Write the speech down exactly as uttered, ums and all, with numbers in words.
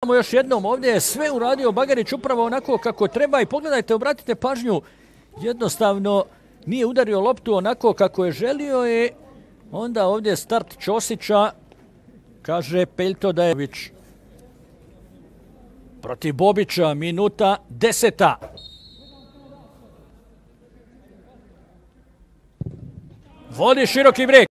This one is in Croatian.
Gledamo još jednom, ovdje je sve uradio Bagarić upravo onako kako treba i pogledajte, obratite pažnju, jednostavno nije udario loptu onako kako je želio i onda ovdje start Ćosića, kaže Peljto Dajević. Protiv Bobića, minuta deseta. Vodi široki brijeg.